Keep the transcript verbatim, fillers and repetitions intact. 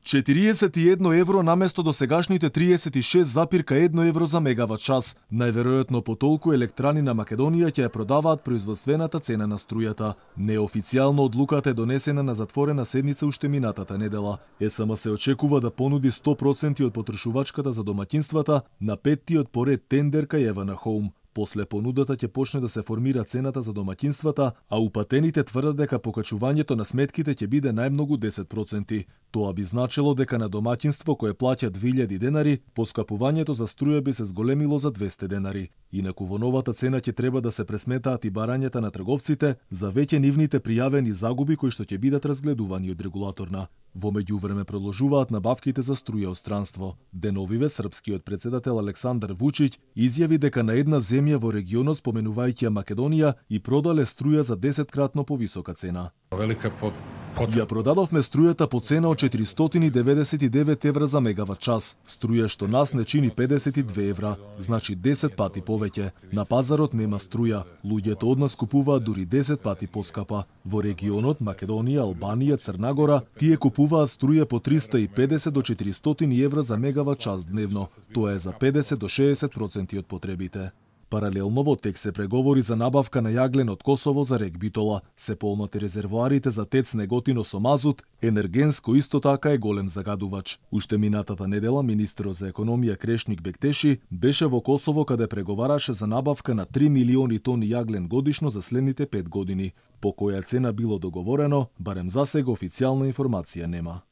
четириесет и едно евро наместо досегашните триесет и шест запир едно евро за мегават час. Најверојатно по толку електрани на Македонија ќе ја продаваат производствената цена на струјата. Неофицијално одлуката е донесена на затворена седница уште минатата недела. ЕСМ се очекува да понуди сто проценти од потрошувачката за домаќинствата на петтиот поред тендер кај Евана Хоум. После понудата ќе почне да се формира цената за домаќинствата, а упатените тврдат дека покачувањето на сметките ќе биде најмногу десет проценти. Тоа би значило дека на домаќинство кое плаќа две илјади денари, поскапувањето за струја би се зголемило за двесте денари. Инаку во новата цена ќе треба да се пресметаат и барањата на трговците за веќе нивните пријавени загуби кои што ќе бидат разгледувани од регулаторна. Во меѓувреме продолжуваат набавките за струја од странство. Деновиве српскиот председател Александар Вучиќ изјави дека на една земја во регионот, споменувајќи ја Македонија, и продале струја за десеткратно повисока цена. Велика под Ја продадовме струјата по цена од четиристотини и деветдесет и девет евра за мегават час. Струја што нас не чини педесет и две евра, значи десет пати повеќе. На пазарот нема струја. Луѓето од нас купуваат дури десет пати поскапа. Во регионот Македонија, Албанија, Црна Гора, тие купуваат струја по триста и педесет до четиристотини евра за мегават час дневно. Тоа е за педесет до шеесет проценти од потребите. Паралелно во тек се преговори за набавка на јаглен од Косово за рек Битола. Се полнати резервоарите за ТЕЦ Неготино со мазут, енергенско исто така е голем загадувач. Уште минатата недела министерот за економија Крешник Бектеши беше во Косово каде преговараше за набавка на три милиони тони јаглен годишно за следните пет години. По која цена било договорено, барем засега официјална информација нема.